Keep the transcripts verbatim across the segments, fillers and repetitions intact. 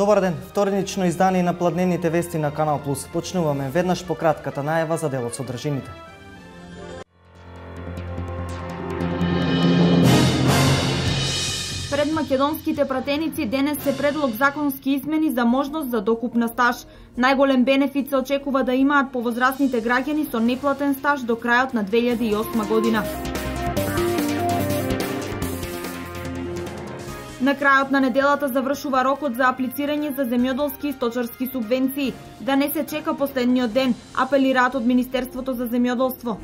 Добар ден, вторнично издание на Пладневните вести на Канал Плюс. Почнуваме веднаш по кратката најава за дел од содржините. Пред македонските пратеници денес се предлог законски измени за можност за докуп на стаж. Најголем бенефит се очекува да имаат повозрастните граѓани со неплатен стаж до крајот на две илјади и осма година. На крајот на неделата завршува рокот за аплицирање за земјоделски и сточарски субвенции. Да не се чека последниот ден, апелираат од Министерството за земјоделство.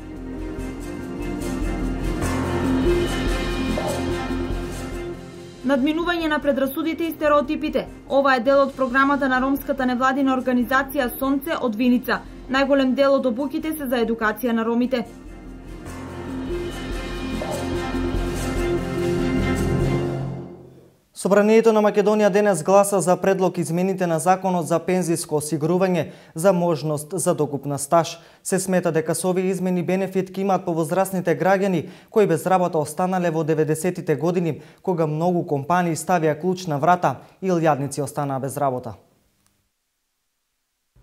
Надминување на предрасудите и стереотипите. Ова е дел од програмата на ромската невладина организација Сонце од Виница. Најголем дел од обуките се за едукација на ромите. Собранието на Македонија денес гласа за предлог измените на Законот за пензиско осигурување за можност за докуп на стаж. Се смета дека со овие измени бенефит ќе имаат повозрастните граѓани кои без работа останале во деветдесетите години, кога многу компании ставија клуч на врата и илјадници останаа без работа.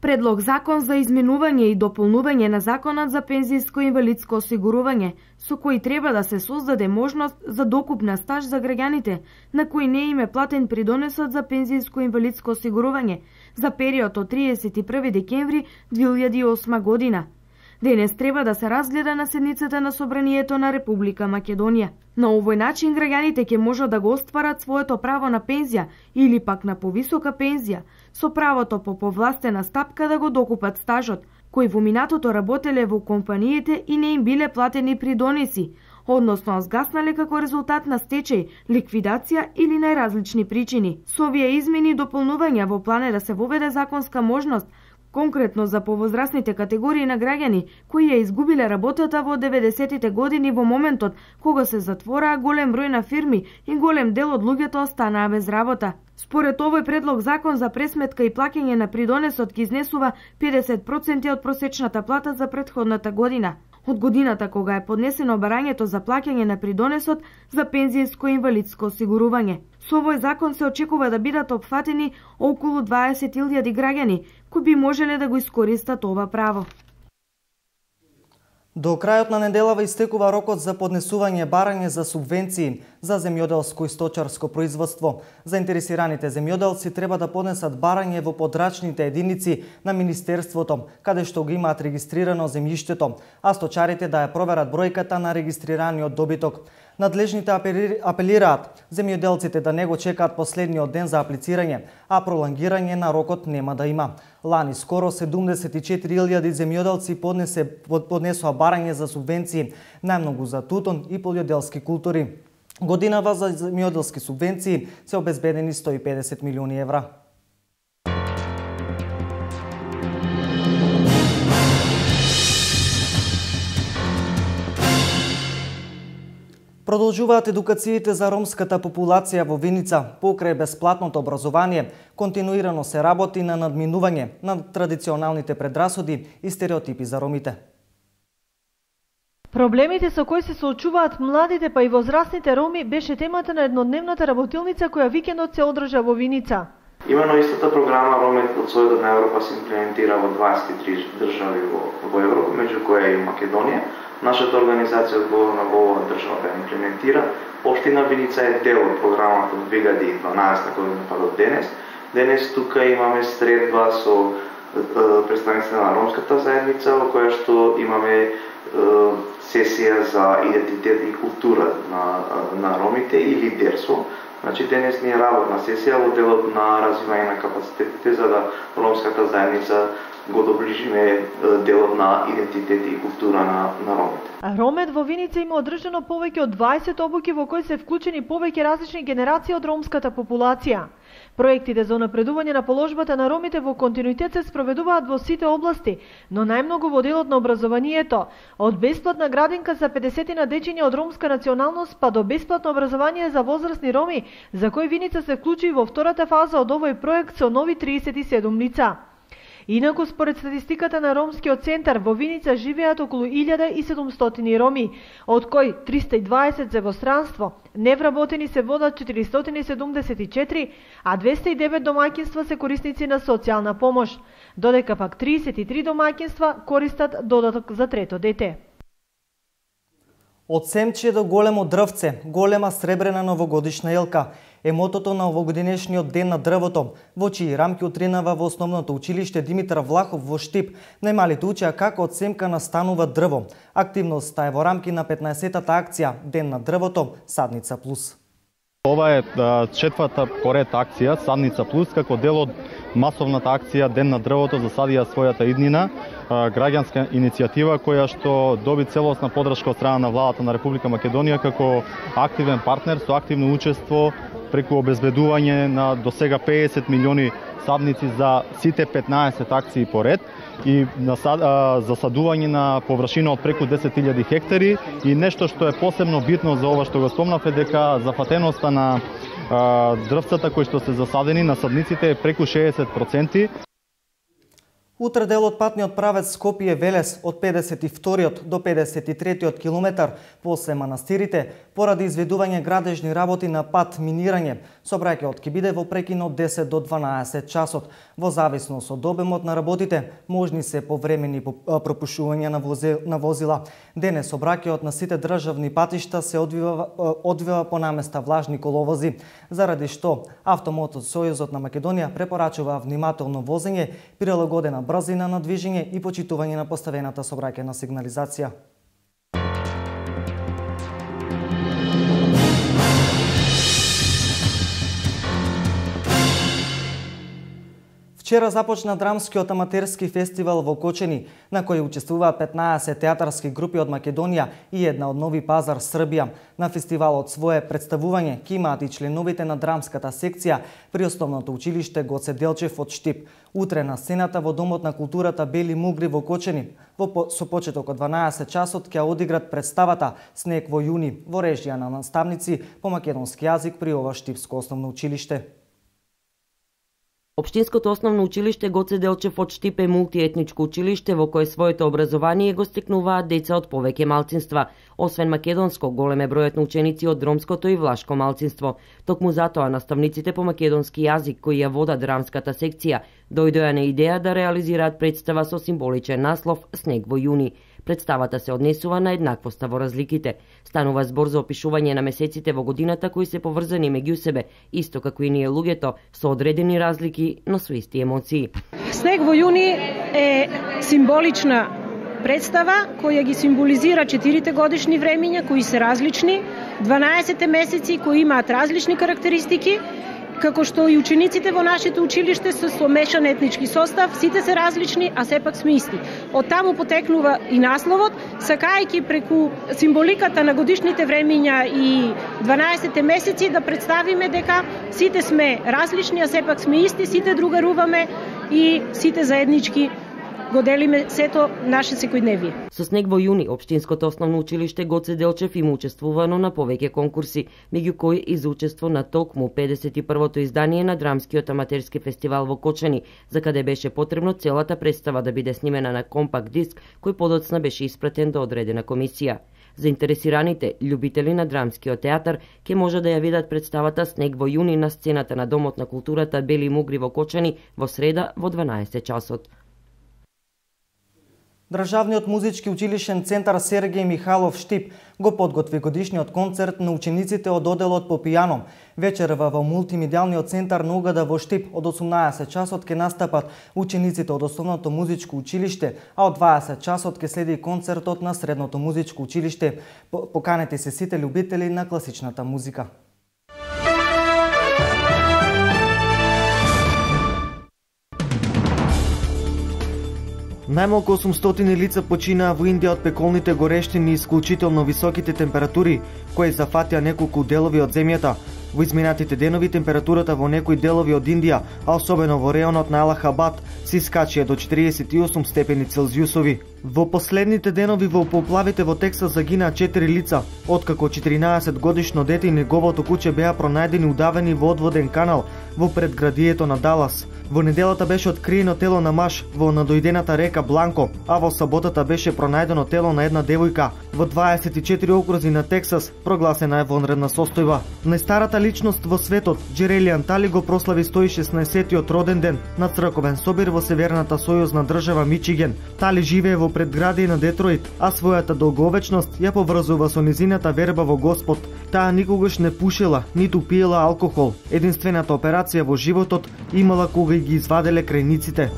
Предлог закон за изменување и дополнување на Законот за пензиско и инвалидско осигурување, со кој треба да се создаде можност за докуп на стаж за граѓаните, на кои не им е платен придонесот за пензиско и инвалидско осигурување за период од триесет и први декември две илјади и осма година. Денес треба да се разгледа на седницата на Собранието на Република Македонија. На овој начин граѓаните ќе можат да го остварат своето право на пензија или пак на повисока пензија, со правото по повластена стапка да го докупат стажот, кои во минатото работеле во компаниите и не им биле платени придонеси, односно згаснале како резултат на стечај, ликвидација или најразлични причини. Со овие измени и дополнувања во план е да се воведе законска можност конкретно за повозрастните категории на граѓани кои ја изгубиле работата во деветдесетите години во моментот кога се затвораа голем број на фирми и голем дел од луѓето останаа без работа. Според овој предлог закон за пресметка и плаќање на придонесот ќе изнесува педесет проценти од просечната плата за претходната година. Од годината кога е поднесено барањето за плаќање на придонесот за пензијско и инвалидско осигурување. Со овој закон се очекува да бидат опфатени околу дваесет илјади граѓани кои би можеле да го искористат ова право. До крајот на неделава истекува рокот за поднесување барање за субвенции за земјоделско и сточарско производство. Заинтересираните земјоделци треба да поднесат барање во подрачните единици на Министерството, каде што го имаат регистрирано земјиштето, а сточарите да ја проверат бројката на регистрираниот добиток. Надлежните апелираат земјоделците да не го чекаат последниот ден за аплицирање, а пролонгирање на рокот нема да има. Лани скоро седумдесет и четири илјади земјоделци поднесе поднесоа барање за субвенции, најмногу за тутун и полјоделски култури. Годинава за земјоделски субвенции се обезбедени сто и педесет милиони евра. Продолжуваат едукациите за ромската популација во Виница. Покрај бесплатното образование, континуирано се работи на надминување на традиционалните предрасуди и стереотипи за ромите. Проблемите со кои се соочуваат младите па и возрастните роми беше темата на еднодневната работилница која викендот се одржа во Виница. Имено истата програма Ромите од Сојдот на Европа се имплементира во дваесет и три држави во, во Европа, меѓу која и Македонија. Нашата организација одговорна во оваа држава да имплементира. Општина Виница е дел од програмата од две илјади и дванаесета година па до денес. Денес тука имаме средба со представниците на ромската заедница, во која што имаме сесија за идентитет и култура на, на ромите и лидерство. Значи денес ни е работна сесија во делот на развивање на капацитетите за да ромската заедница го доближиме делот на идентитет и култура на, на ромите. Ромет во Виница има одржано повеќе од дваесет обуки во кои се вклучени повеќе различни генерации од ромската популација. Проектите за напредување на положбата на ромите во континуитет се спроведуваат во сите области, но најмногу во делот на образованието, од бесплатна градинка за педесетина дечиња од ромска националност па до бесплатно образование за возрастни роми, за кој Виница се вклучи во втората фаза од овој проект со нови триесет и седум лица. Инаку, според статистиката на Ромскиот центар, во Виница живеат околу илјада и седумстотини роми, од кои триста и дваесет се во странство, невработени се водат четиристотини и седумдесет и четири, а двесте и девет домаќинства се корисници на социјална помош, додека пак триесет и три домаќинства користат додаток за трето дете. Од семче до големо дрвце, голема сребрена новогодишна елка е мотото на овогодинешниот ден на дрвото, во чии рамки утринава во основното училиште Димитар Влахов во Штип. Најмалите учеа како од семка настанува дрво. Активноста е во рамки на петнаесеттата акција Ден на дрвото Садница плюс. Ова е четврта поред акција Садница плюс, како дел од масовната акција Ден на дрвото засадија својата иднина, граѓанска иницијатива која што доби целосна поддршка од страна на владата на Република Македонија како активен партнер со активно учество преку обезбедување на досега педесет милиони садници за сите петнаесет акции поред и засадување на површина од преку десет илјади хектари и нешто што е посебно битно за ова што го спомнав е дека зафатеноста на дрвцата кои што се засадени на садниците е преку шеесет проценти. Утре дел од патниот правец Скопје-Велес од педесет и вториот до педесет и третиот километар после манастирите, поради изведување градежни работи на пат минирање, сообраќајот ќе биде во прекин од десет до дванаесет часот. Во зависност од обемот на работите, можни се повремени пропушувања на возила. Денес сообраќајот на сите државни патишта се одвива, одвива по наместа влажни коловози, заради што Автомото Сојузот на Македонија препорачува внимателно возење, прилагодена брзина на движење и почитување на поставената сообраќајна сигнализација. Вчера започна драмскиот аматерски фестивал во Кочени, на кој учествуваат петнаесет театарски групи од Македонија и една од Нови Пазар, Србија. На фестивалот свое представување ќе имаат и членовите на драмската секција при Основното училиште Гоце Делчев од Штип. Утре на сцената во Домот на културата Бели Мугри во Кочени, во со почеток од дванаесет часот ќе одиграт представата Снег во јуни во режија на наставници по македонски јазик при ова Штипско основно училиште. Општинското основно училиште Гоце Делчев од Штип е мултиетничко училиште во кое своето образование го стекнуваат деца од повеќе малцинства. Освен македонско, голем е бројот на ученици од ромското и влашко малцинство. Токму затоа наставниците по македонски јазик кои ја водат драмската секција дојдоа на идеја да реализираат представа со символичен наслов Снег во јуни. Представата се однесува на еднаквоста во разликите. Станува збор за опишување на месеците во годината кои се поврзани меѓу себе, исто како и ние луѓето, со одредени разлики, но со исти емоции. Снег во јуни е символична представа која ги символизира четирите годишни времиња кои се различни, дванаесет месеци кои имаат различни карактеристики, како што и учениците во нашето училиште се со мешан етнички состав, сите се различни, а сепак сме исти. Од таму потекнува и насловот, сакајќи преку символиката на годишните времиња и дванаесет месеци да представиме дека сите сме различни, а сепак сме исти, сите другаруваме и сите заеднички го делиме сето наше секојдневие. Со Снег во јуни, Општинското основно училиште Гоце Делчев има учествувано на повеќе конкурси, меѓу кои и за учество на токму педесет и првото издание на драмскиот аматерски фестивал во Кочани, за каде беше потребно целата представа да биде снимена на компакт диск, кој подоцна беше испратен до одредена комисија. Заинтересираните љубители на драмскиот театар ќе може да ја видат представата Снег во јуни на сцената на Домот на културата Бели Мугри во Кочани во среда во дванаесет часот. Државниот музички училишен центар Сергеј Михайлов Штип го подготви годишниот концерт на учениците од оделот по пијано. Вечерва во мултимедијалниот центар на Угада во Штип од осумнаесет часот ќе настапат учениците од Основното музичко училиште, а од дваесет часот ќе следи концертот на Средното музичко училиште. Поканете се сите љубители на класичната музика. Најмалку осумстотини лица починаа во Индија од пеколните горештини и исклучително високите температури, кои зафатија неколку делови од земјата. Во изминатите денови температурата во некои делови од Индија, а особено во реонот на Алахабад, се искачија до четириесет и осум степени Целзиусови. Во последните денови во поплавите во Тексас загинаа четири лица, откако четиринаесет годишно дете и неговото куче беа пронајдени удавени во одводен канал во предградието на Далас. Во неделата беше откриено тело на маж во надојдената река Бланко, а во саботата беше пронајдено тело на една девојка. Во дваесет и четири окрузи на Тексас прогласена е вонредна состојба. Најстарата личност во светот, Джерелијан Тали, го прослави сто и шеснаесеттиот роден ден на црковен собир во северната сојузна држава Мичиген. Тали живее во предградие на Детройт, а својата долговечност ја поврзува со низината верба во Господ. Таа никогаш не пушила, ниту пиела алкохол. Единствената операција во животот имала кога ги изваделе крајниците.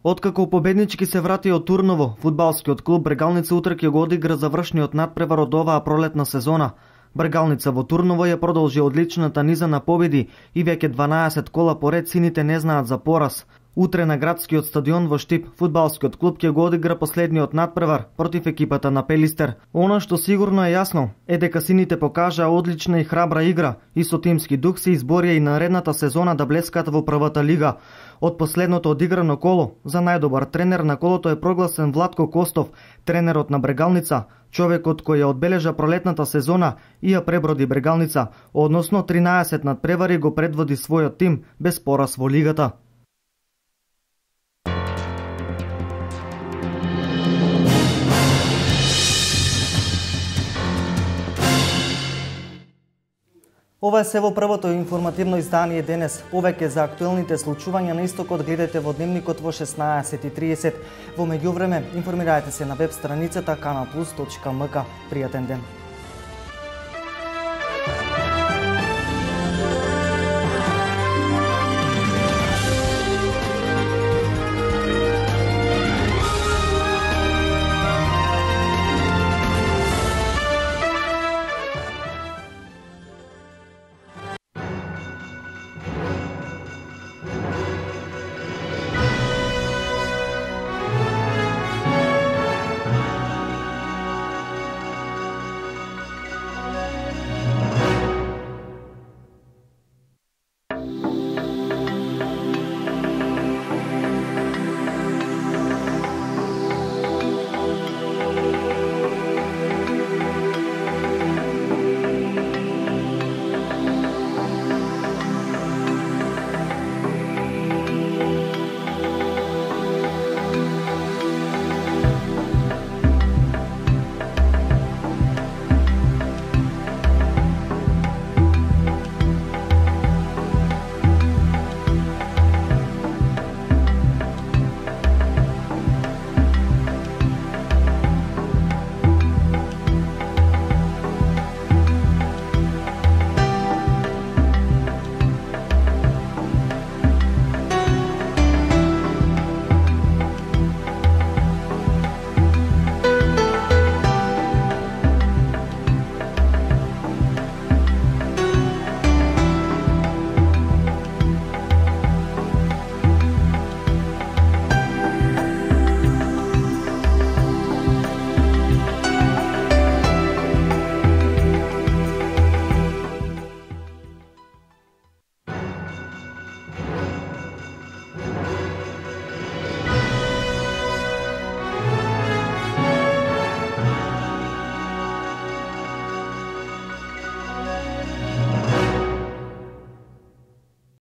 Откако победнички се врати од Турново, фудбалскиот клуб Брегалница утре ќе го одигра завршниот надпревар од оваа пролетна сезона. Брегалница во Турново ја продолжи одличната низа на победи и веќе дванаесет кола поред сините не знаат за пораз. Утре на градскиот стадион во Штип, фудбалскиот клуб ќе го одигра последниот надпревар против екипата на Пелистер. Она што сигурно е јасно е дека сините покажаа одлична и храбра игра и со тимски дух се изборија и наредната сезона да блескат во првата лига. Од последното одиграно коло, за најдобар тренер на колото е прогласен Владко Костов, тренерот на Брегалница, човекот кој ја одбележа пролетната сезона и ја преброди Брегалница, односно тринаесет надпревари го предводи својот тим без пораз во лигата. Ова е се во првото информативно издание денес. Повеќе за актуелните случувања на истокот гледате во дневникот во шеснаесет и тридесет. Во меѓувреме, информирајте се на веб страницата канал плюс точка ем ка. Пријатен ден!